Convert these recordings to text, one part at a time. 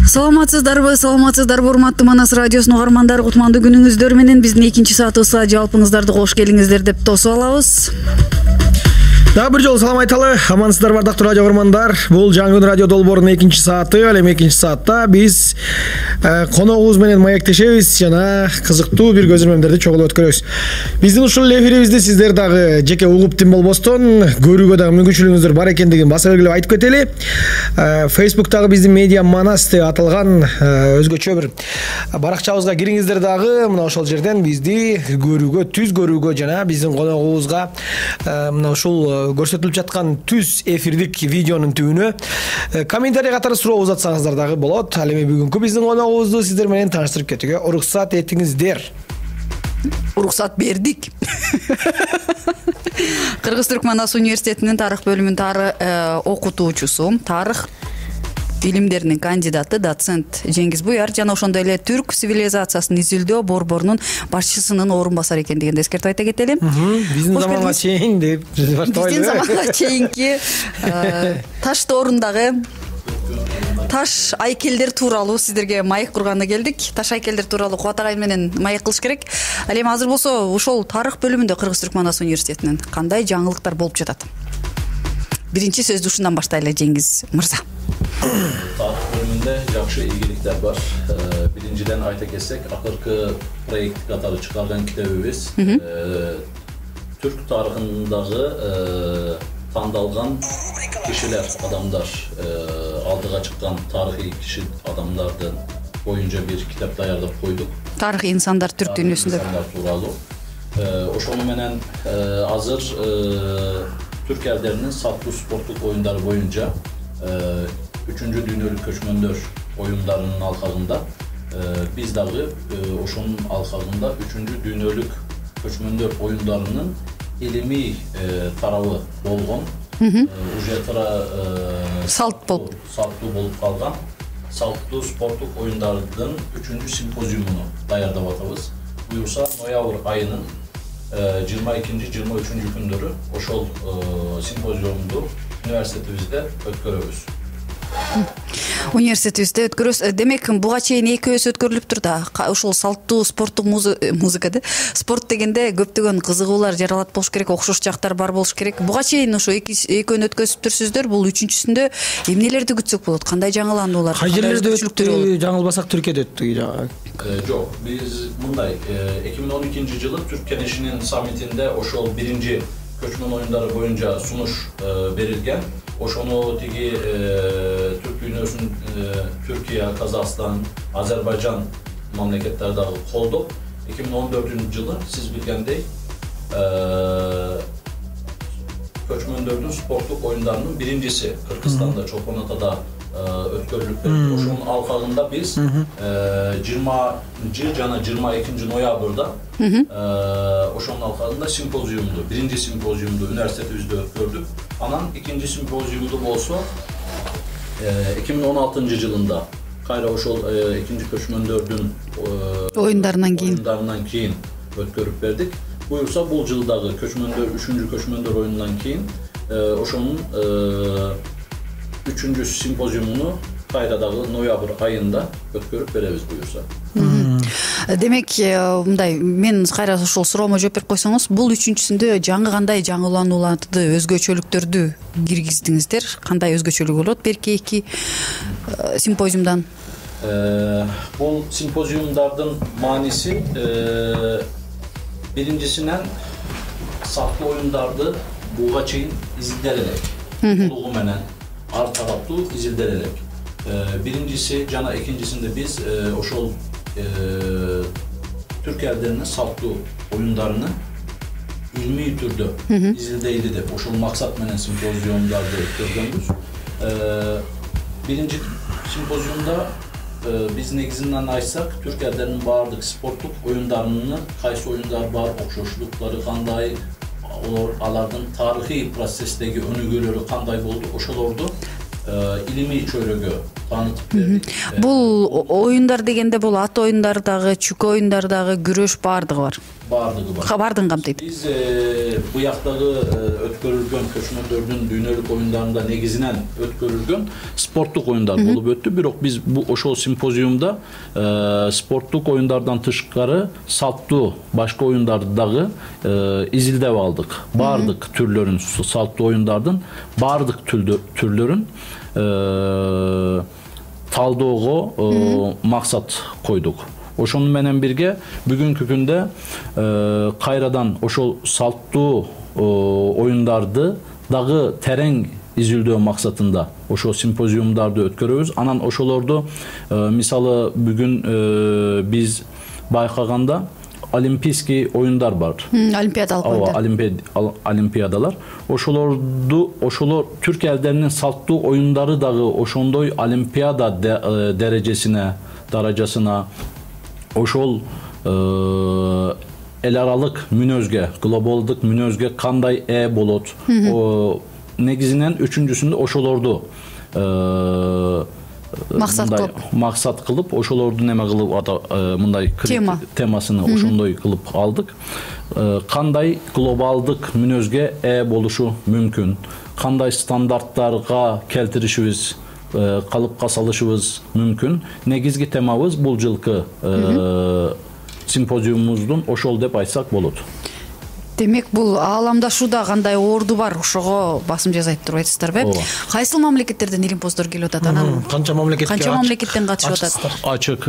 Саламатсыздарбы, урматтуу Манас радиосунун угармандары, кутмандуу күнүңүздөр менен биздин экинчи саатыбызга жалпыңыздарды кош келиңиздер деп тосуп алабыз. Дагы бир жолу салам айталы. Амансыздарбы ардактуу радио угармандар. Бул жаңы күн радио долбоорунун экинчи сааты. Ал эми экинчи саатта биз коногубуз менен маектешебиз жана кызыктуу бир көзөрмөмдөрдү чогулуп өткөрөбүз. Биздин ушул эфирибизди сиздер дагы жеке угуп тим болбостон көрүүгө дагы мүмкүнчүлүгүңүздөр бар экендигин баса белгилеп айтып кетели. Facebook'тагы биздин медиа Манас деп аталган өзгөчө бир баракчабызга кириңиздер дагы мына ошол жерден бизди көрүүгө, түз көрүүгө жана биздин коногубузга мына ушул көрсөтүлүп жаткан түз эфирдик видеонун түбүнө комментарий катары суроо узатсаңыздар дагы болот. Ал эми бүгүнкү биздин коногубузду сиздер менен тааныштырып кетүүгө уруксат этиңиздер. Уруксат бердик. Кыргыз-Түрк Манас университетинин тарых бөлүмүнүн окутуучусу, тарых илимдеринин кандидаты доцент Жеңиз Буяр жана ошондой эле түрк цивилизациясын изилдөө борборунун башчысынын орун басары экендигин эскертип айта кетели. Биздин заманга чейин деп баштабайлы. Биздин заманга чейинки таш доорундагы таш айкелдер тууралуу сиздерге маек курганда келдик. Таш айкелдер тууралуу Кубат агай менен маек кылыш керек. Ал эми азыр болсо ошол тарых бөлүмүндө Кыргыз-Түрк Манас университетинин кандай жаңылыктар болуп жатат? Биринчи сөздү ушундан баштайлы, Жеңиз мырза. Тарых бөлүмүндө жакшы ийгиликтер бар. Биринчиден айта кетсек, акыркы проект катары чыгарган китебибиз түрк тарыхындагы тандалган кишилер, адамдар, алдыга чыккан тарыхый киши адамдардын боюнча бир китеп даярдап койдук. Тарых инсандар түрк дүйнөсүндө тууралуу. Ошону менен азыр түрк элдеринин саттуу спорттук оюндары боюнча 3-cü дүйнөлүк көчмөндөр оюндарынын алкагында биз дагы ошонун алкагында 3-cü дүйнөлүк көчмөндөр оюндарынын илимий тарабы болгон уже салттуу болуп калган салттуу спорттук оюндардын 3-cü симпозиумуну даярдап атабыз. Буюрса ноябрь айынын 22-23 күндөрү ошол симпозиумду университетибизде өткөрөбүз. Университетибизде өткөрөбүз. Демек, буга чейин экөөсү өткөрүлүптүр да. Ошол салттуу спорттук музыкада спорт дегенде көптөгөн кызыгуулар жаралат болуш керек, окшош жактар бар болуш керек. Буга чейин ошо экөөнү өткөзүптүрсүздөр. Бул 3-чүсүндө эмнелерди күтсөк болот? Кандай жаңылануулар? Кай жерлерде өттү? Жаңылбасак Түркияда өттү. Жок, биз мындай 2012-жылы Түрк кеңешинин саммитинде ошол биринчи көчмөн оюндары боюнча сунуш берилген. Ошону тиги түрк дүйнөсүн Түркия, Казакстан, Азербайжан мамлекеттери дагы колдоп, 2014-жылы сиз билгендей көчмөндөрдүн спорттук оюндарынын биринчиси Кыргызстанда Чолпон Атада өткөрүлүп берди. Ошонун алкагында биз 20 жана 22 ноябрда ошонун алкагында симпозиумду, биринчи симпозиумду университетибизде өткөрдүк. Анан экинчи симпозиумду болсо 2016-жылында кайра ошол экинчи көчмөндөрдүн оюндарынан кийин өткөрүп бердик. Буюрса бул жылдагы көчмөндөр 3-cü көчмөндөр оюнунан кийин ошонун 3-cü симпозиумуну кайра дагы ноябрь айында өткөрүп беребиз буюрса. Демек, мындай, мен кайра ошол суроомо жооп берип койсоңуз, бул 3-чүсүндө кандай жаңыланууларды, өзгөчөлүктөрдү киргиздиңиздер? Кандай өзгөчөлүгү болот берки эки симпозиумдан? Бул симпозиумдардын мааниси биринчисинен сактуу оюндарды буга чейин изилдер элек. Толугу менен ар тараптуу изилдер элек. Биринчиси жана экинчисинде биз ошол түрк элдеринин салтуу оюндарыны илмий түрдө изилдейли деп ошол максат менен симпозиумдарды өткөргөнбүз. Биринчи симпозиумда биз негизинен айтсак, түрк элдеринин баардык спорттук оюндарынын кайсы оюндар бар, окшоштуктары кандай, алардын тарыхый процесстеги өнүгүүлөрү кандай болду, ошолорду илимий чөйрөгө таанытып бердик. Бул оюндар дегенде бул ат оюндар дагы, чүкө оюндар дагы, күрөш баардыгы бар. Баардыгы бар. Баардыгын камтыйт. Биз буяктагы өткөрүлгөн көчмөндөр дүйнөлүк оюндарында негизинен өткөрүлгөн спорттук оюндар болуп өттү. Бирок биз ошол симпозиумда спорттук оюндардан тышкары салттуу башка оюндарды дагы изилдеп алдык. Баардык түрлөрүн, салттуу оюндардын баардык түрлөрүн талдоого максат койдук. Ошону менен бирге бүгүнкү күндө кайрадан ошол салттуу оюндарды дагы терең изилдөө максатында ошол симпозиумдарды өткөрөбүз. Анан ошолорду мисалы бүгүн биз байкаганда олимпийский оюндар бар. Олимпиадалык оюндар. Олимпиадалар. Ошолор түрк элдеринин салттуу оюндары дагы ошондой олимпиада даражасына ошол эл аралык мүнөзгө, глобалдык мүнөзгө кандай болот? Негизинен үчүнчүсүндө ошолорду максат кылып, ошолорду неме кылып мындай темасыны ошондой кылып алдык. Кандай глобалдык мүнөзгө болушу мүмкүн? Кандай стандарттарга келтиришибиз, калыпка салышыбыз мүмкүн? Негизги темабыз бул жылкы симпозиумубуздун ошол деп айтсак болот. Демек, бул ааламдашууда кандай орду бар, ошого басым жасайт туруп айтасыздарбы? Кайсыл мамлекеттерден илимпоздор келип атат? Анан канча мамлекеттен катышып атат? Ачык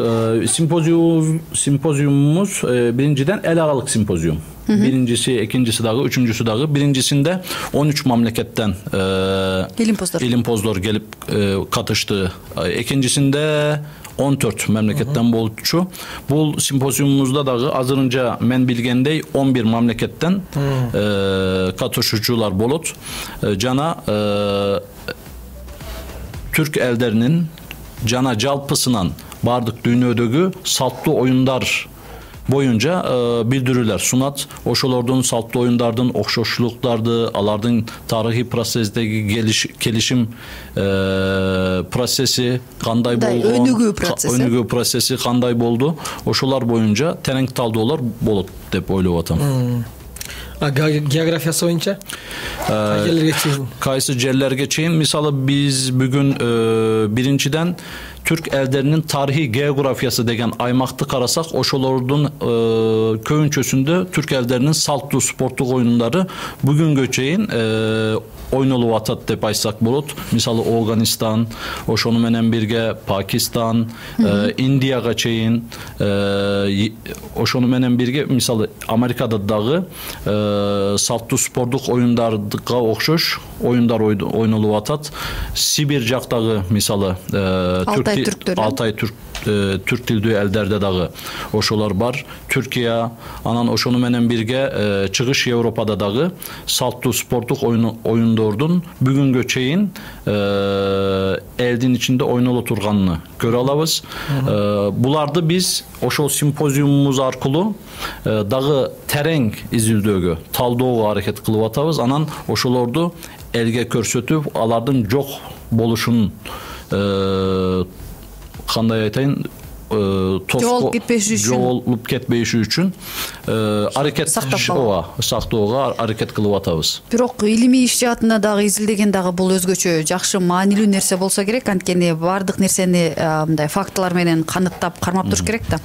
симпозиумубуз биринчиден эл аралык симпозиум. Биринчиси, экинчиси дагы, үчүнчүсү дагы. Биринчисинде 13 мамлекеттен илимпоздор келип катышты. Экинчисинде 14 мамлекеттен болчу. Бул симпозиумубузда дагы азырынча мен билгендей 11 мамлекеттен катышуучулар болот. Жана түрк элдеринин жана жалпысынан бардык дүйнөдөгү салттуу оюндар боюнча билдирүүлөр сунат. Ошолордун салттуу оюндардын окшоштуктарды, алардын тарыхый процесстеги келишим процесси кандай болгон, өнүгүү процесси кандай болду, ошолор боюнча терең талдоолор болот деп ойлоп атам. Географиясы боюнча кайсы жерлерге чейин? Мисалы биз бүгүн биринчиден түрк элдеринин тарыхый географиясы деген аймакты карасак, ошолордун көбүнчөсүндө түрк элдеринин салттуу спорттук оюндары бүгүнгө чейин ойнолуп атат деп айтсак болот. Мисалы Афганистан, ошону менен бирге Пакистан, Индияга чейин, ошону менен бирге мисалы Америкада дагы салттуу спорттук оюндарга окшош оюндар ойнолуп атат. Сибирь жактагы мисалы Алтай түрк тилдүү элдерде дагы ошолор бар. Түркия, анан ошону менен бирге чыгыш Европада дагы салттуу спорттук оюндордун бүгүнгө чейин элдин ичинде ойноло турганын көрө алабыз. Буларды биз ошол симпозиумубуз аркылуу дагы терең изилдөөгө, талдоого аракет кылып атабыз. Анан ошолорду элге көрсөтүп, алардын жок болушун кандай айтайын, жоголуп кетпеши үчүн аракет сактоого аракет кылып атабыз. Бирок илимий иш жаатына дагы изилдеген дагы бул өзгөчө жакшы маанилүү нерсе болсо керек. Анткени баардык нерсени мындай фактылар менен каныттап, кармап туруш керек да.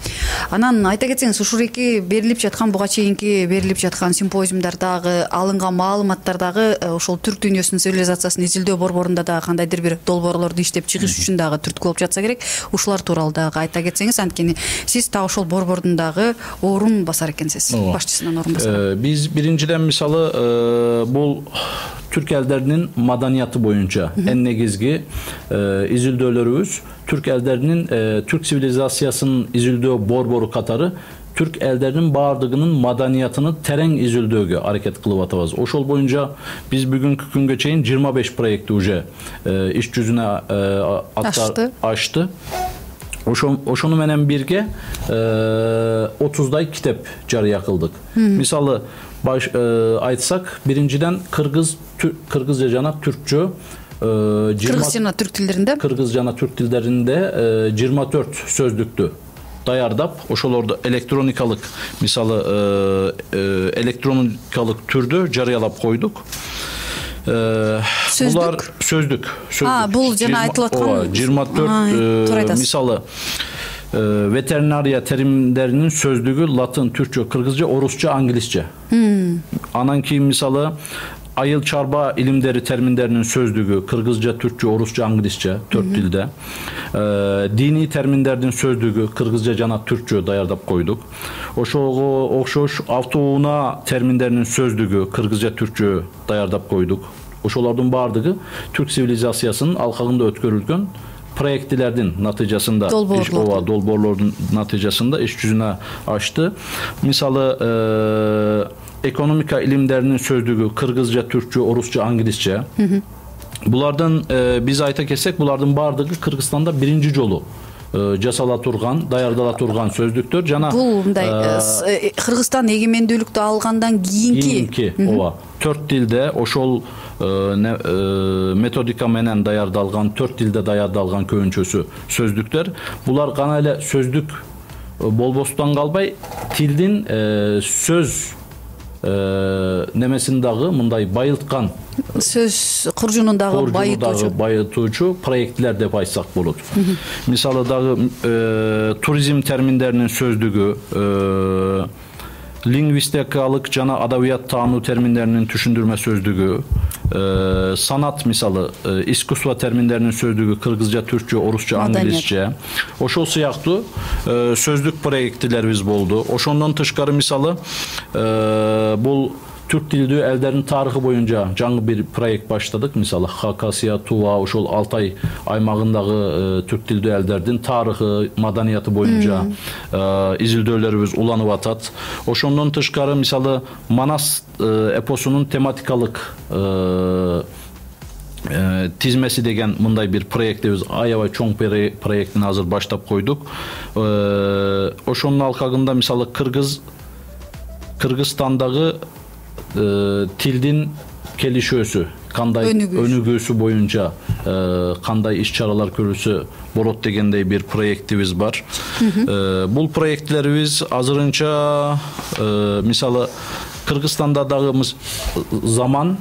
Анан айта кетсеңиз, ушуреки берилип жаткан, буга чейинки берилип жаткан симпозиумдардагы алынган маалыматтардагы ошол түрк дүйнөсүнүн цивилизациясын изилдөө борборунда дагы кандайдыр бир долбоорлорду иштеп чыгыш үчүн дагы түрткү болуп жатса керек. Ушулар тууралуу дагы айта кетсеңиз, анткени сиз так ошол борбордун дагы орун басар экенсиз, башчысынан орун басар. Биз биринчиден мисалы бул түрк элдеринин маданияты боюнча эң негизги изилдөөлөрүбүз түрк элдеринин түрк цивилизациясынын изилдөө борбору катары түрк элдеринин баардыгынын маданиятын терең изилдөөгө аракет кылып атабыз. Ошол боюнча биз бүгүнкү күнгө чейин 25 проектти уже иш жүзүнө ачты. Ошону менен бирге 30дай китеп жарыя кылдык. Мисалы айтсак, биринчиден кыргызча жана түркчө кыргыз жана түрк тилдеринде 24 сөздүктү даярдап, ошолорду электроникалык, мисалы электроникалык түрдө жарыялап койдук. Булар сөздүк. Бул жана айтылып аткан 24 мисалы ветеринария теримдеринин сөздүгү латын, түркчө, кыргызча, орусча, англисче. Анан кийин мисалы айыл чарба илимдери терминдеринин сөздүгү кыргызча, түркчө, орусча, англисче, 4 тилде. Диний терминдердин сөздүгү кыргызча жана түркчө даярдап койдук. Ошого окшош автоунаа терминдеринин сөздүгү кыргызча, түркчө даярдап койдук. Ошолордун баардыгы түрк цивилизациясынын алкагында өткөрүлгөн проектилердин натыйжасында, долбоорлордун натыйжасында иш жүзүнө ашты. Мисалы экономика илимдеринин сөздүгү кыргызча, түркчө, орусча, англисче. Булардын биз айта кетсек, булардын баардыгы Кыргызстанда биринчи жолу жасала турган, даярдала турган сөздүктөр жана бул мындай Кыргызстан эгемендүүлүктү алгандан кийинки 4 тилде ошол методика менен даярдалган, 4 тилде даярдалган көбүнчөсү сөздүктөр. Булар гана эле сөздүк болбостон калбай, тилдин сөз немесин дагы мындай байылткан, сөз куржунундагы байытуучу проекттер деп айтсак болот. Мисалы дагы туризм терминдеринин сөздүгү, лингвистикалык жана адабият таануу терминдеринин түшүндүрмө сөздүгү, санат мисалы искусство терминдеринин сөздүгү кыргызча, түркчө, орусча, англисче. Ошол сыяктуу сөздүк проекттилерибиз болду. Ошондон тышкары мисалы бул түрк тилдүү элдердин тарыхы боюнча жаңы бир проект баштадык. Мисалы Хакасия, Тува, ошол Алтай аймагындагы түрк тилдүү элдердин тарыхы, маданияты боюнча изилдөөлөрүбүз уланып атат. Ошондон тышкары мисалы Манас эпосунун тематикалык тизмеси деген мындай бир проектибиз, аябай чоң проектин азыр баштап койдук. Ошонун алкагында мисалы Кыргызстандагы тилдин келишөөсү, кандай өнүгүүсү боюнча кандай иш-чаралар көрүлсө болот дегендей бир проектибиз бар. Бул проектлерибиз азырынча мисалы Кыргызстанда дагы заман,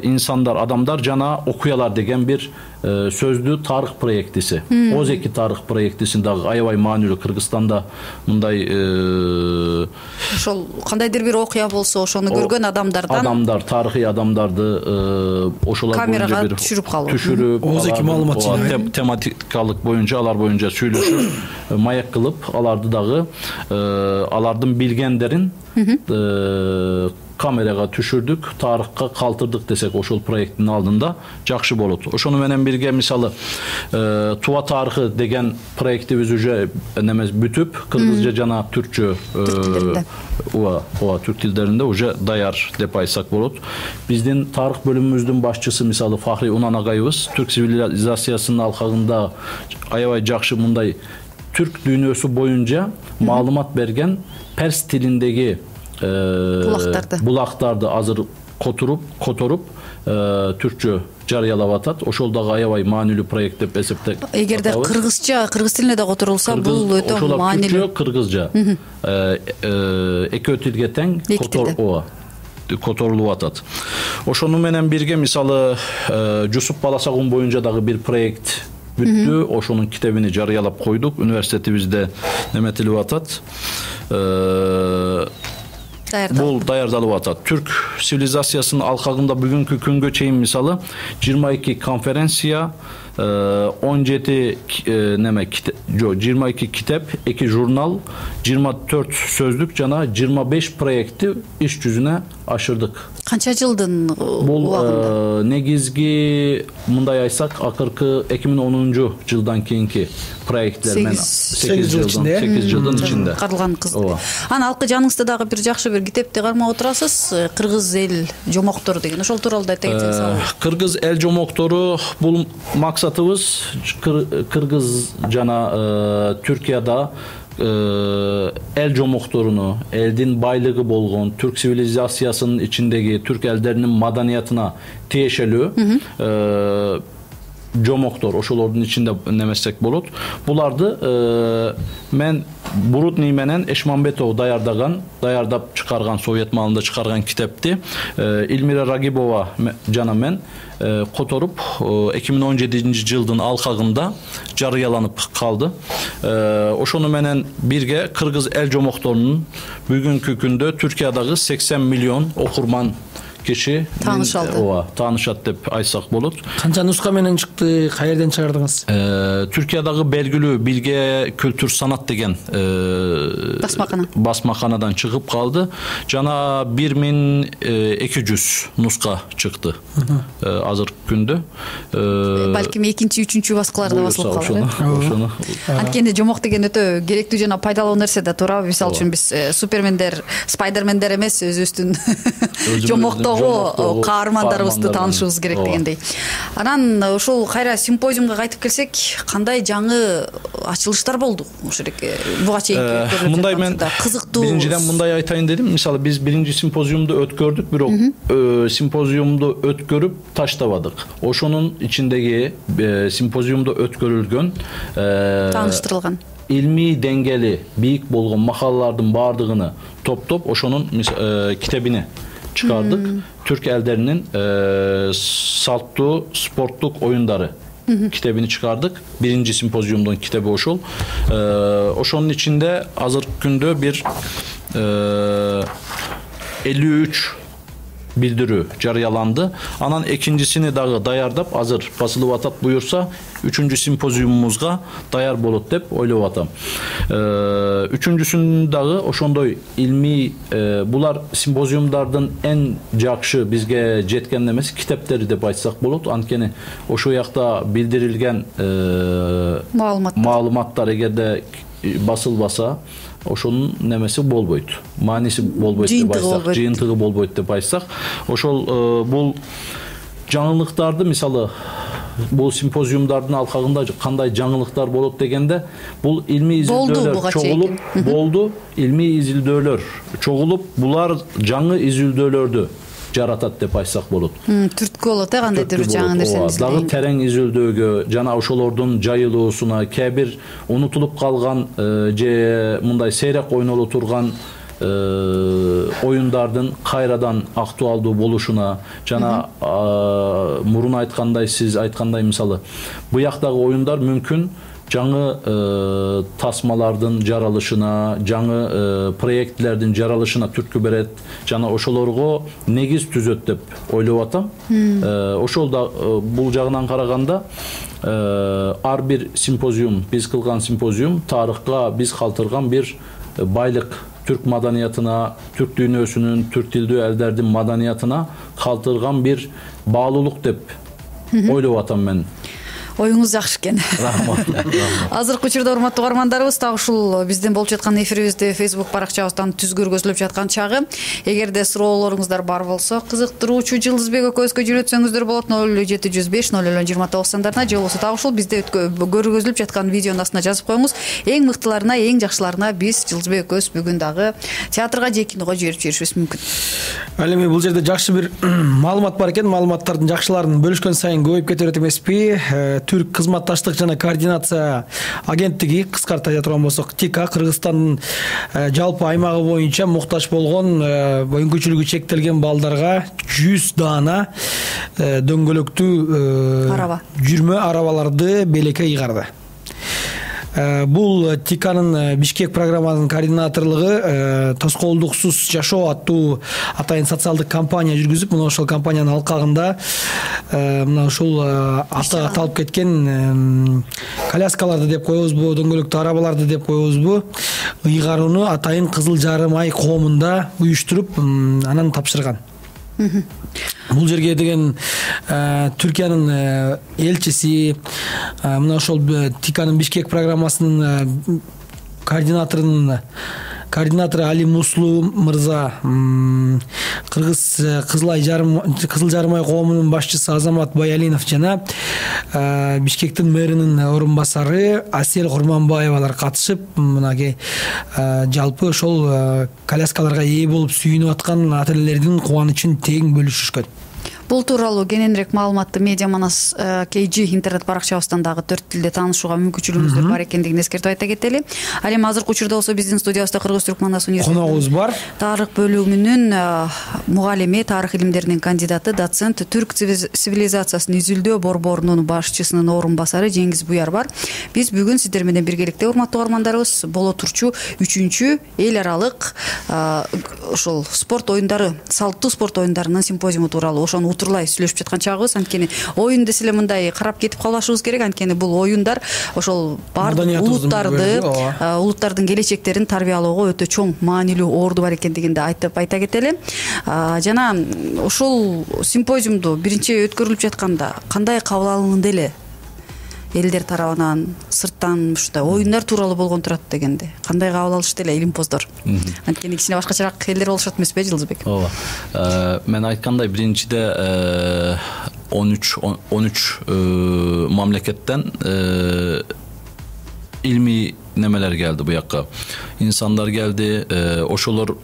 инсандар, адамдар жана окуялар деген бир сөздүү тарых проектиси. Озеки тарых проектисин дагы аябай маанилүү. Кыргызстанда мындай ошол кандайдыр бир окуя болсо, ошону көргөн адамдар, тарыхый адамдарды ошолор камерага түшүрүп калуу. Озеки маалымат тематикалык боюнча, алар боюнча сүйлөшүп, маек кылып, аларды дагы алардын билгендерин камерага түшүрдүк, тарыхка калтырдык десек, ошол проекттин алдында жакшы болот. Ошону менен бирге мисалы Тува тарыхы деген проектибиз уже бүтүп, кыргызча жана түркчө, түрк тилдеринде уже даяр деп айтсак болот. Биздин тарых бөлүмүбүздүн башчысы мисалы Фахри Унан агайыбыз түрк цивилизациясынын алкагында аябай жакшы мындай түрк дүйнөсү боюнча маалымат берген перс тилиндеги булактарды азыр которуп түркчө жарыялап атат. Ошол дагы аябай маанилүү проект деп эсептеп. Эгерде кыргыз тилинде да которулса, бул өтө маанилүү. Кыргызча экөө тилге тең которулуп атат. Ошону менен бирге мисалы Жусуп Баласагун боюнча дагы бир проект бүттү. Ошонун китебини жарыялап койдук. Университетибизде неметилип атат. Бул даярдалып атат. Түрк цивилизациясынын алкагында бүгүнкү күнгө чейин мисалы 22 конференция, 17 22 китеп, 2 журнал, 24 сөздүк жана 25 проектти иш жүзүнө ашырдык. Канча жылдын убагында? Негизги мындай айтсак, акыркы 2010 жылдан кийинки проекттер менен 8 жылдын ичинде каралган кыз. Анан алкы жаныңызда дагы бир жакшы бир китепти кармап отурасыз, Кыргыз эл жомоктору деген. Ошол тууралуу да айта кетсеңиз. Кыргыз эл жомоктору бул максатыбыз Кыргыз жана Түркияда эл жомокторуну, элдин байлыгы болгон түрк цивилизациясынын ичиндеги түрк элдеринин маданиятына тиешелүү жомоктор, ошолордун ичинде немесек болот. Буларды мен Бурудний менен Эшмамбетов даярдап чыгарган, Совет маалында чыгарган китепти Эльмира Рагибова жана мен которуп 2017-жылдын алкагында жарыяланып калды. Ошону менен бирге кыргыз эл жомокторунун бүгүнкү күндө Түркиядагы 80 миллион окурман киши таанышат деп айтсак болот. Канча нуска менен чыкты, каерден чыгардыңыз? Түркиядагы белгилүү Билге Kültür Sanat деген басмаканадан чыгып калды. Жана 1200 нуска чыкты азыркы күндө. Балким экинчи, үчүнчү баскыларда басылып калды. Анткени жомок деген өтө керектүү жана пайдалуу нерсе да туурабы? Мисалы үчүн биз супермендер, спайдермендер эмес, өзүбүздүн жомокто каармандарыбызды таанышыбыз керек дегендей. Анан ошол кайра симпозиумга кайтып келсек, кандай жаңы ачылыштар болду ошол буга чейинки? Мындай мен кызыктуу. Биринчиден мындай айтайын дедим. Мисалы биз биринчи симпозиумду өткөрдүк, бирок симпозиумду өткөрүп таштабадык. Ошонун ичиндеги симпозиумду өткөрүлгөн тааныштырылган илмий деңгээли бийик болгон макалалардын баардыгын топтоп, ошонун китебине чыгардык. Түрк элдеринин салттуу спорттук оюндары китебини чыгардык. Биринчи симпозиумдун китеби ошол. Ошонун ичинде азыркы күндө бир 53 билдирүү жарыяланды. Анан экинчисини дагы даярдап, азыр басылып атат, буюрса үчүнчү симпозиумубузга даяр болот деп ойлоп атам. Үчүнчүсүн дагы ошондой илмий, булар симпозиумдардын эң жакшы бизге жеткен эмес китептери деп айтсак болот. Анткени ошол жакта билдирилген маалыматтар эгерде басылбаса, ошонун немеси болбойт, мааниси болбойт деп айтсак, жыйынтыгы болбойт деп айтсак, ошол бул жаңылыктарды, мисалы бул симпозиумдардын алкагында кандай жаңылыктар болот дегенде, бул илмий изилдөөлөр чогулуп болду, илмий изилдөөлөр чогулуп, булар жаңы изилдөөлөрдү жаратат деп айтсак болот. Түрткү болот, кандайдыр жаңы нерсени дагы терең изилдөөгө жана ошолордун жайылуусуна, кээ бир унутулуп калган же мындай сейрек ойноло турган оюндардын кайрадан актуалдуу болушуна жана мурун айткандай, сиз айткандай, мисалы буяктагы оюндар мүмкүн жаңы тасмалардын жаралышына, жаңы проектлердин жаралышына түрткү берет жана ошолорго негиз түзөт деп ойлоп атам. Ошол да бул жагынан караганда ар бир симпозиум, биз кылган симпозиум тарыхка биз калтырган бир байлык, түрк маданиятына, түрк дүйнөсүнүн, түрк тилдүү элдердин маданиятына калтырган бир баалуулук деп ойлоп атам мен. Оюңуз жакшы экен. Рахмат. Азыркы учурда урматтуу угармандарыбыз, так ушул биздин болуп жаткан эфирибизди Facebook баракчабыздан түз көргөзүлүп жаткан чагы. Эгерде суроолоруңуздар бар болсо, кызыктыруучу Жылдызбек экөөбүзгө жөнөтсөңүздөр болот 0705 0029 сандарына, же болбосо так ушул бизде көргөзүлүп жаткан видеонун астына жазып коюңуз. Эң мыктыларына, эң жакшыларына биз Жылдызбек экөөбүз бүгүн дагы театрга же киного жиберип жиберишибиз мүмкүн. Ал эми бул жерде жакшы бир маалымат бар экен. Маалыматтардын жакшыларын бөлүшкөн сайын көбөйүп кетет эмеспи? Түрк кызматташтык жана координация агенттиги, кыскартып айта турган болсок, ТИКА, Кыргызстандын жалпы аймагы боюнча муктаж болгон мүмкүнчүлүгү чектелген балдарга 100 даана дөңгөлөктүү жүрмө арабаларды белекке ыйгарды. Бул ТИКАнын Бишкек программанын координаторлугу тоскоолдуксуз жашоо аттуу атайын социалдык кампания жүргүзүп, мына ошол кампаниянын алкагында мына ушул аты аталып кеткен коляскаларды деп коебузбу, дөңгөлөктүү арабаларды деп коебузбу, ыйгарууну атайын Кызыл Жарым ай коомунда уюштуруп, анан тапшырган. Бул жерге деген Түркиянын элчиси, мына ошол ТИКАнын Бишкек программасынын координатору Али Муслу мырза, Кыргыз Кызыл Жарым ай коомунун башчысы Азамат Баялинов жана Бишкектин мэринин орун-басары Асел Курманбаевалар катышып, мынаке жалпы ошол коляскаларга ээ болуп сүйүнүп аткан ата-энелердин кубанычын тең бөлүшүшкөн. Бул тууралуу кененирээк маалыматты Media Manas KG интернет баракчабыздан дагы 4 тилде таанышууга мүмкүнчүлүгүңүздөр бар экендигин эскертип айта кетели. Ал эми азыркы учурда болсо биздин студиябызда Кыргыз-Түрк Манас университетинин коногубуз бар. Тарых бөлүмүнүн мугалими, тарых илимдеринин кандидаты, доцент, түрк цивилизациясын изилдөө борборунун башчысынын орун басары Жеңиз Буяр бар. Биз бүгүн сиздер менен биргеликте, урматтуу угармандарыбыз, боло турчу 3-чү эл аралык ошол спорт оюндары, салттуу спорт оюндарынын симпозиуму тууралуу ошону утурлай сүйлөшүп жаткан чагыбыз. Анткени оюн десе эле мындай карап кетип калбашыбыз керек. Анткени бул оюндар ошол бардык улуттардын келечектерин тарбиялоого өтө чоң маанилүү орду бар экендигин да айта кетели. Жана ошол симпозиумду биринчи өткөрүлүп жатканда кандай кабыл алынды эле элдер тарабынан, сырттан ушундай оюндар тууралуу болгон турат дегенде кандай кабыл алышты эле илимпоздор? Анткени кичине башкачараак элдер болушат эмеспи, Жылдызбек? Ооба. Мен айткандай, биринчиде 13 мамлекеттен илмий немелер келди буякка. Инсандар келди, ошолор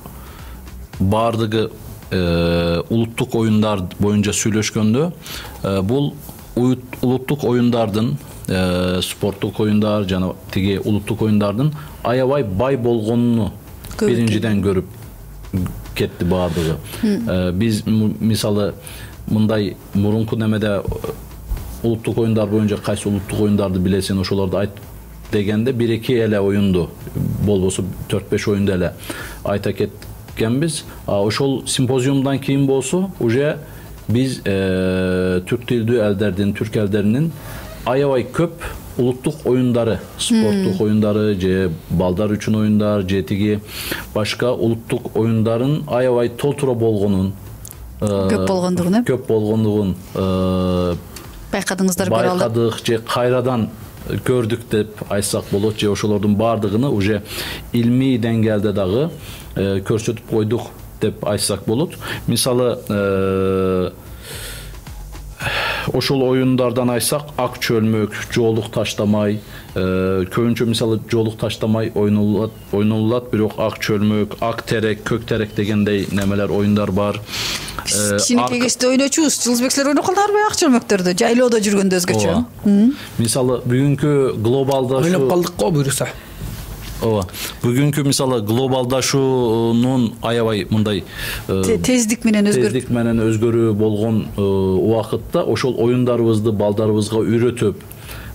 бардыгы улуттук оюндар боюнча сүйлөшкөндө, бул улуттук оюндардын, спорттук оюндар жана тиги улуттук оюндардын аябай бай болгонуну биринчиден көрүп кетти бардыгы. Биз мисалы мындай мурунку немеде улуттук оюндар боюнча кайсы улуттук оюндарды билесиң, ошолорду айт дегенде 1-2 эле оюнду, болбосо 4-5 оюнду эле айта кеткенбиз. Ошол симпозиумдан кийин болсо уже биз түрк тилдүү элдердин, түрк элдеринин аябай көп улуттук оюндары, спорттук оюндары, же балдар үчүн оюндар, же тиги башка улуттук оюндарын аябай толтура болгонун, көп болгондугун байкадыңыздар, көрө алдык. Байкадык же кайрадан көрдүк деп айтсак болот, же ошолордун бардыгыны уже илмий деңгээлде дагы көрсөтүп койдук деп айтсак болот. Мисалы ошол оюндардан айтсак, ак чөлмөк, жоолук таштамай, көбүнчө мисалы жоолук таштамай ойнолулат, бирок ак чөлмөк, ак терек, көк терек дегендей немелер оюндар бар. Кичинекей кезде ойночубуз. Жылдызбек, силер ойноколдорбу ак чөлмөктөрдү? Жайлоодо жүргөндө өзгөчө. Мисалы бүгүнкү глобалдашуу ойноп калдык го буюрса. Ооба. Бүгүнкү мисалы глобалдашуунун аябай мындай тездик менен өзгөрүү болгон убакытта ошол оюндарыбызды балдарыбызга үйрөтүп,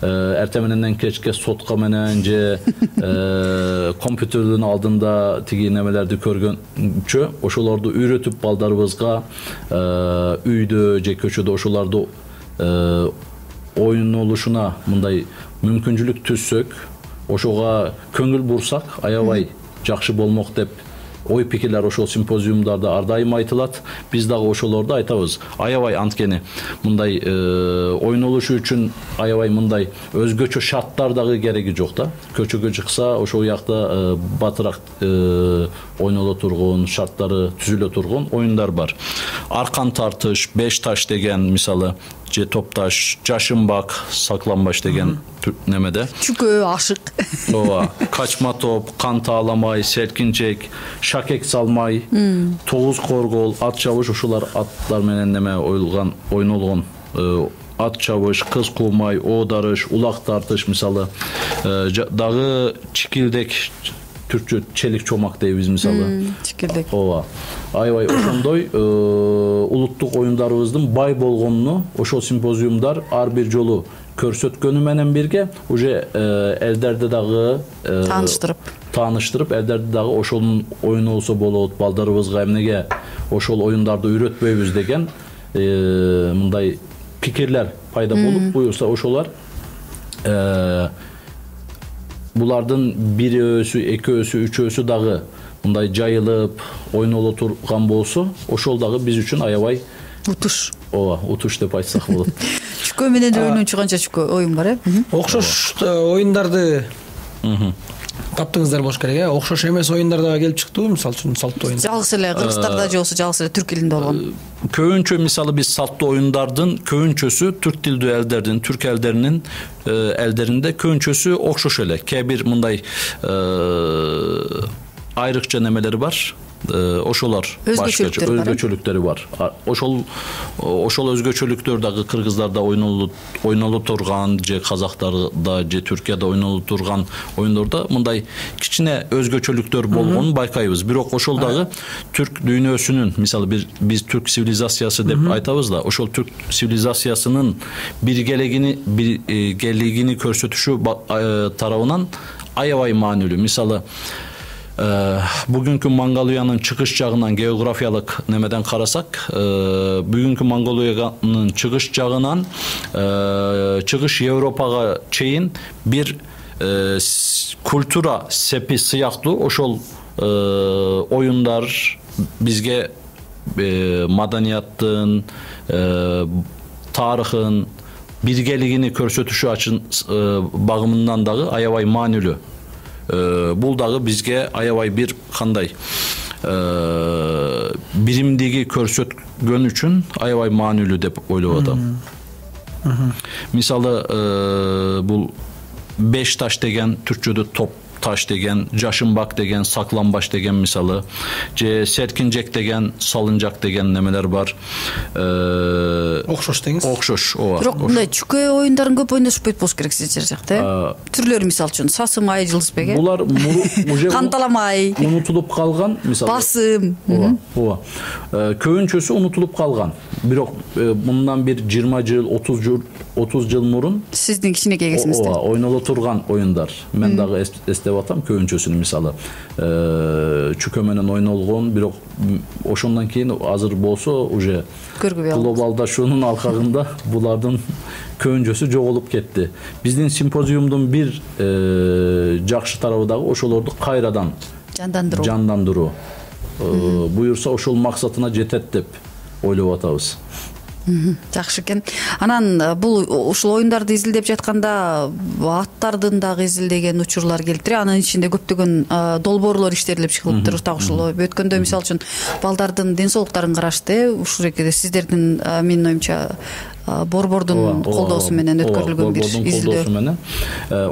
эртең мененден кечке сотка менен же компьютердин алдында тиги немелерди көргөнчө ошолорду үйрөтүп балдарыбызга үйдө же көчөдө ошолорду ойнолушуна мындай мүмкүнчүлүк түзсөк, ошого көңүл бурсак аябай жакшы болмок деп ой пикирлер ошол симпозиумдарда ар дайым айтылат. Биз дагы ошолорду айтабыз. Аябай анткени мындай ойнолушу үчүн аябай мындай өзгөчө шарттар дагы кереги жок да. Көчөгө чыкса ошол жакта батыраак ойноло турган, шарттары түзүлө турган оюндар бар. Аркан тартыш, 5 таш деген мисалы, же топташ, жашынбак, сакланбаш деген немеде. Чүкө, ашык. Ооба. Качма топ, кан тааламай, селкинчек, шакек салмай, тогуз коргол, ат чабыш, ошолар аттар менен неме ойнолгон. Ат чабыш, кыз куумай, оодарыш, улак тартыш мисалы, дагы чикилдек, түркчө челик чомак дейбиз мисалы. Чикилдек. Ооба. Аябай ошондой улуттук оюндарыбыздын бай болгонуну ошол симпозиумдар ар бир жолу көрсөткөнү менен бирге уже элдерди дагы тааныштырып, элдерди дагы ошонун оюну болсо болот, балдарыбызга эмнеге ошол оюндарды үйрөтпөйбүз деген мындай пикирлер пайда болуп, буюрса ошолар булардын бирөөсү, экөөсү, үчөөсү дагы мындай жайылып, ойноло турган болсо, ошол дагы биз үчүн аябай утуш. Ооба, утуш деп айтсак болот. Чүкө менен ойнончу канча чүкө оюн бар, Окшош оюндарды таптыңыздар болуш керек, Окшош эмес оюндар дагы келип чыктыбы, мисалы үчүн салттуу оюндар? Жалгыз эле кыргыздарда же болбосо жалгыз эле түрк элинде болгон. Көбүнчө мисалы биз салттуу оюндардын көбүнчөсү түрк тилдүү элдердин, түрк элдеринин элдеринде көбүнчөсү окшош эле. Кээ бир мындай айрыкча немелери бар. ошолор башкача өзгөчөлүктөрү бар. Ошол өзгөчөлүктөр дагы кыргыздарда ойноло турган же казактарда же Түркияда ойноло турган оюндордо мындай кичине өзгөчөлүктөр болгонун байкайбыз. Бирок ошол дагы түрк дүйнөсүнүн, мисалы биз түрк цивилизациясы деп айтабыз да, ошол түрк цивилизациясынын биргелигини көрсөтүшү тарабынан аябай маанилүү. Мисалы бүгүнкү Монголиянын чыгыш жагынан географиялык немеден карасак, бүгүнкү Монголиянын чыгыш жагынан чыгыш Европага чейин бир культура сепи сыяктуу ошол оюндар бизге маданияттын, тарыхын, биргелигини көрсөтүшү багымынан дагы аябай маанилүү. Бул дагы бизге аябай бир кандай биримдиги көрсөткөн үчүн аябай маанилүү деп ойлоп атам. Мисалы бул беш таш деген, түркчөдө топ таш деген, жашынбак деген, сакланбаш деген мисалы, же серкинжек деген, салынжак деген немелер бар. Окшош деңиз. Окшош, ооба. Бирок мындай чүкө оюндарын көп ойношпойт болуш керек сиздер жакта, Түрлөрү мисалы үчүн сасым ай, жылдызбек, Булар уже канталамай, унутулуп калган, мисалы. Басым. Ооба. Көбүнчөсү унутулуп калган. Бирок мындан бир 20 жыл, 30 жыл мурун сиздин кичинекей кезиңизде ойноло турган оюндар. Мен дагы эстеп атам көбүнчөсүн, мисалы чүкө менен ойнолгон, бирок ошондон кийин азыр болсо уже глобалдашуунун алкагында булардын көбүнчөсү жоголуп кетти. Биздин симпозиумдун бир жакшы тарабы дагы ошолорду кайрадан жандандыруу. Буюрса ошол максатына жетет деп ойлоп атабыз. Жакшы экен. Анан бул ушул оюндарды изилдеп жатканда аттардын дагы изилдеген учурлар келиптир. Анын ичинде көптөгөн долбоорлор иштелип чыгылыптыр. Так ушул өткөндө мисалы үчүн балдардын ден соолуктарын карашты. Ушул жерде сиздердин менин оюмча борбордун колдоосу менен өткөрүлгөн бир изилдөө.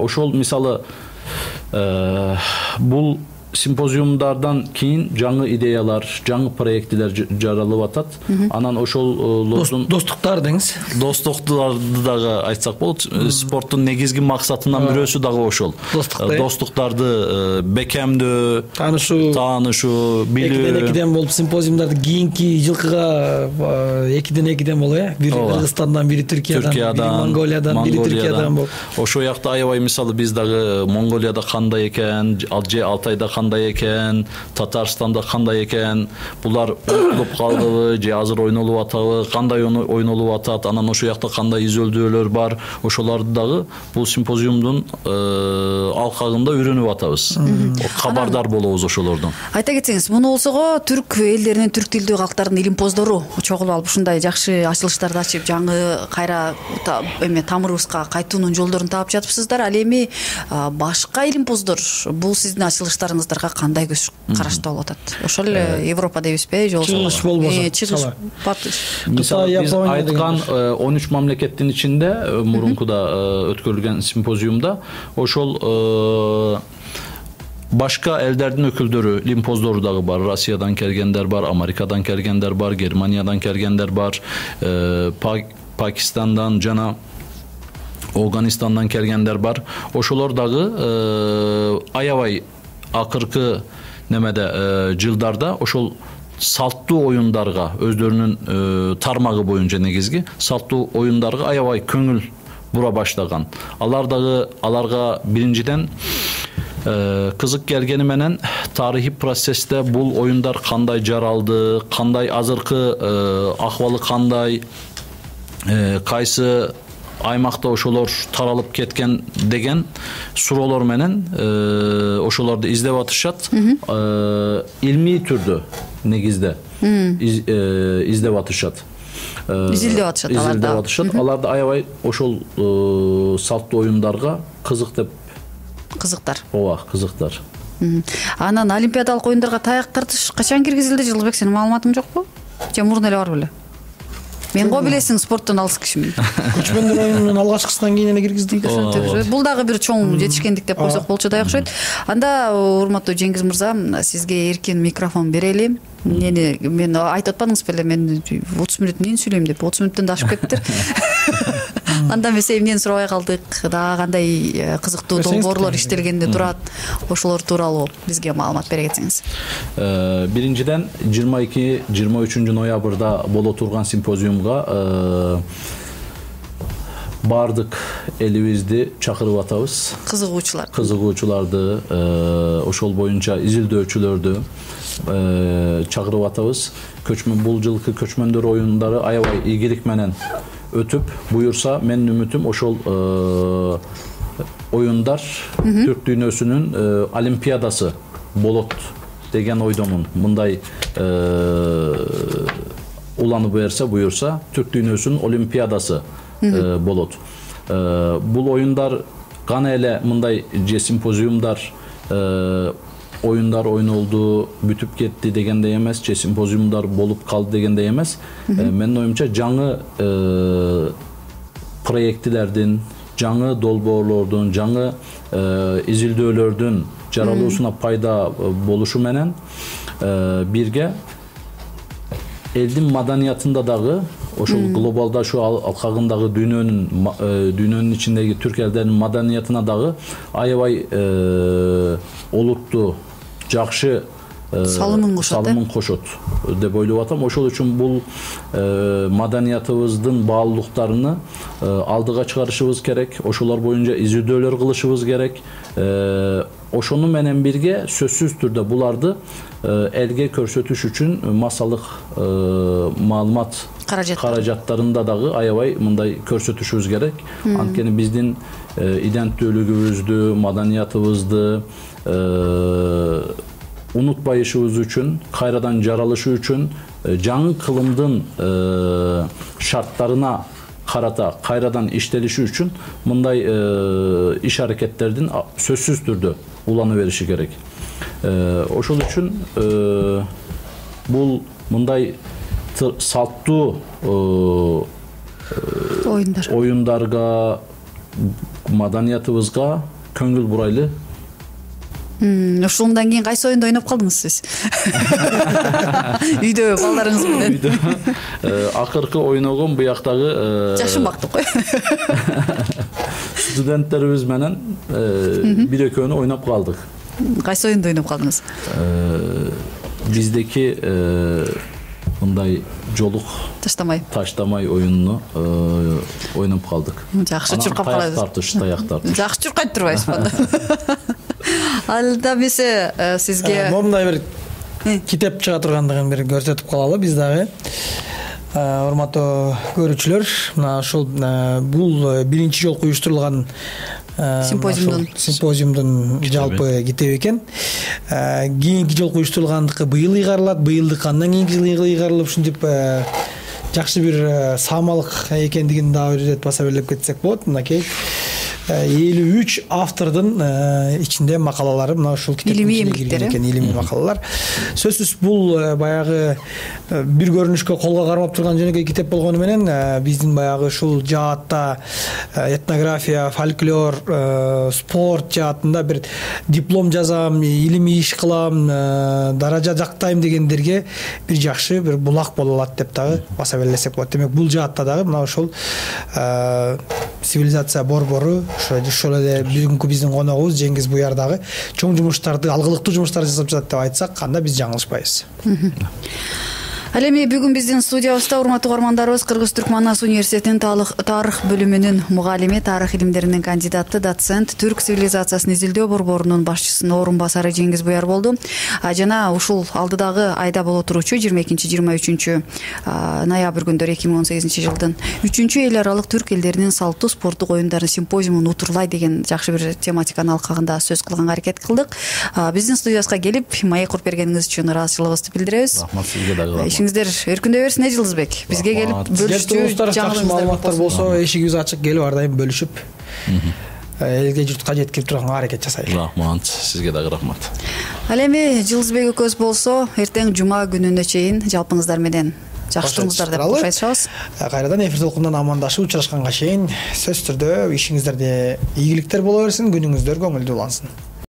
Ошол мисалы бул симпозиумдардан кийин жаңы идеялар, жаңы проектилер жаралып атат. Анан ошолордун достуктар деңиз. Достуктарды дагы айтсак болот. Спорттун негизги максатынан бирөөсү дагы ошол. Достуктарды бекемдөө, таанышуу, билүү. Экиден болуп симпозиумдарды кийинки жылкыга 2-2 болуп, бири Кыргызстандан, бири Түркиядан, бири Монголиядан, бири Түркиядан болуп. Ошол жакта аябай мисалы биз дагы Монголияда кандай экен, же Алтайда кандай экен, Татарстанда кандай экен, булар унутулуп калдыбы же азыр ойнолуп атабы, кандай ойнолуп атат, анан ошол жакта кандай изилдөөлөр бар, ошолорду дагы бул симпозиумдун алкагында үйрөнүп атабыз. Кабардар болобуз ошолордон. Айта кетсеңиз, муну болсого түрк элдеринин, түрк тилдүү калктардын илимпоздору чогулуп алып ушундай жакшы ачылыштарды ачып, жаңы кайра тамырыбызга кайтуунун жолдорун таап жатыпсыздар. Ал эми башка илимпоздор бул сиздин ачылыштарыңыздарга кандай көз карашта болуп атат? Ошол Европа дейбизби, же чыгыш болбосо? Чыгыш. Мисалы биз айткан 13 мамлекеттин ичинде мурункуда өткөрүлгөн симпозиумда ошол башка элдердин өкүлдөрү, илимпоздору дагы бар. Россиядан келгендер бар, Америкадан келгендер бар, Германиядан келгендер бар, Пакистандан жана Афганистандан келгендер бар. Ошолор дагы аябай акыркы немеде жылдарда ошол салттуу оюндарга, өздөрүнүн тармагы боюнча негизги салттуу оюндарга аябай көңүл бура баштаган. Аларга биринчиден кызык келгени менен тарыхый процессте бул оюндар кандай жаралды, кандай азыркы акыбалы кандай, кайсы аймакта ошолор таралып кеткен деген суроолор менен ошолорду издеп атышат. Илмий түрдө негизде издеп атышат. Изилдеп атышат. Аларды аябай ошол салттуу оюндарга кызыктар. Ооба, кызыктар. Анан олимпиадалык оюндарга таяк тартыш качан киргизилди? Жылбек, сенин маалыматың жокпу? Же мурун эле бар беле? Мен го билесиң, спорттон алыс кишимин. Көчмөндөр оюнунун алгачкысынан кийин эле киргиздик. Бул дагы бир чоң жетишкендик деп койсок болчу да окшойт. Анда урматтуу Жеңиз мырза, сизге эркин микрофон берели. Мен айтып атпадыңыз беле, мен 30 мүнөт эмнени сүйлөйм деп, 30 мүнөттөн да ашып кетиптир. Анда эмесе эмнени сурабай калдык, дагы кандай кызыктуу долбоорлор иштелгенде турат, ошолор тууралуу бизге маалымат бере кетсеңиз. Биринчиден 22-23 ноябрда боло турган симпозиумга бардык элибизди чакырып атабыз. Кызыгуучуларды, ошол боюнча изилдөөчүлөрдү чакырып атабыз. Бул жылкы көчмөндөр оюндары аябай ийгилик менен өтүп, буюрса менин үмүтүм ошол оюндар Түрк дүйнөсүнүн олимпиадасы болот деген ойдомун. Мындай уланып буюрса Түрк дүйнөсүнүн олимпиадасы болот. Бул оюндар гана эле мындай же симпозиумдар оюндар ойнолду, бүтүп кетти дегендей эмес, же симпозиумдар болуп калды дегендей эмес. Менин оюмча жаңы проекттилердин, жаңы долбоорлордун, жаңы изилдөөлөрдүн жаралуусуна пайда болушу менен бирге элдин маданиятында дагы ошол глобалдашуу алкагындагы дүйнөнүн ичиндеги түрк элдеринин маданиятына дагы аябай олуттуу, жакшы салымын кошот деп ойлоп атам. Ошол үчүн бул маданиятыбыздын баалуулуктарыны алдыга чыгарышыбыз керек, ошолор боюнча изилдөөлөр кылышыбыз керек. Ошону менен бирге сөзсүз түрдө буларды элге көрсөтүш үчүн массалык маалымат каражаттарында дагы аябай мындай көрсөтүшүбүз керек. Анткени биздин иденттүүлүгүбүздү, маданиятыбызды унутпайышыбыз үчүн, кайрадан жаралышы үчүн, жаңы кылымдын шарттарына карата кайрадан иштелиши үчүн мындай иш аракеттердин сөзсүз түрдө улана бериши керек. Ошол үчүн бул мындай салттуу оюндарга, маданиятыбызга көңүл бурайлы. Ушундан кийин кайсы оюнда ойноп калдыңыз сиз? Үйдө балдарыңыз менен. Акыркы ойногон буяктагы жашын бактык кой. Студенттерибиз менен бир экөөнү ойноп калдык. Кайсы оюнда ойноп калдыңыз? Биздеки мындай жолук таштамай оюнуну ойноп калдык. Жакшы чуркап калабыз. Таяк тартыш. Жакшы чуркайт турбайсызбы? Алда бисе сизге момундай бир китеп чыга тургандыгын бир көрсөтүп калалы биз дагы. Урматтуу көрүүчүлөр, мына ушул бул биринчи жолку уюштурулган симпозиумдун жалпы китеби экен. Кийинки жолку уюштурулгандыкы быйыл ыйгарылат, быйылдык андан кийинки жылы ыйгарылып ушинтип жакшы бир саамалык экендигин дагы өзөтүп баса белеп кетсек болот. Мынакей 53 автордун ичинде макалалары мына ушул китептин ичине кирген экен, илимий макалалар. Сөзсүз бул баягы бир көрүнүшкө колго кармап турган жөнөкөй китеп болгону менен биздин баягы ушул жаатта этнография, фольклор, спорт жаатында бир диплом жазам, илимий иш кылам, даража жактайм дегендерге бир жакшы бир булак боло алат деп дагы баса белесек болот. Демек бул жаатта дагы мына ушул цивилизация борбору ошол эле бүгүнкү биздин коногубуз Жеңиз Буяр дагы чоң жумуштарды, алгылыктуу жумуштарды жасап жатат деп айтсак, анда биз жаңылышпайбыз. Ал эми бүгүн биздин студиябызда урматтуу угармандарыбыз Кыргыз-Түрк Манас университетинин тарых бөлүмүнүн мугалими, тарых илимдеринин кандидаты, доцент, түрк цивилизациясын изилдөө борборунун башчысынын орун басары Жеңиз Буяр болду. Жана ушул алдыдагы айда боло туручу 22-23 ноябрь күндөрү 2018 жылдын 3-чү эл аралык түрк элдеринин салттуу спорттук оюндарын симпозиумун утурлай деген жакшы бир тематиканын алкагында сөз кылганга аракет кылдык. Биздин студиябызга келип маек куруп бергениңиз үчүн ыраазычылыгыбызды билдиребиз. Рахмат сизге дагы. Сиңиздер өркүндөй берсин Жылызбек. Бизге келип бөлүшчү жакшы маалыматтар болсо, эшигибиз ачык, келип ар дайым бөлүшүп элге журтка жеткирип турганга аракет жасайлы. Рахмат, сизге дагы рахмат. Ал эми Жылызбек экөөбүз болсо, эртең жума күнүнө чейин жалпыңыздар менен жакшы туруңуздар деп кош айтышабыз. Кайрадан эфир толкунунан амандашып учурашканга чейин сөзсүз түрдө ишиңиздерде ийгиликтер боло берсин, күнүңүздөр көңүлдүү улансын.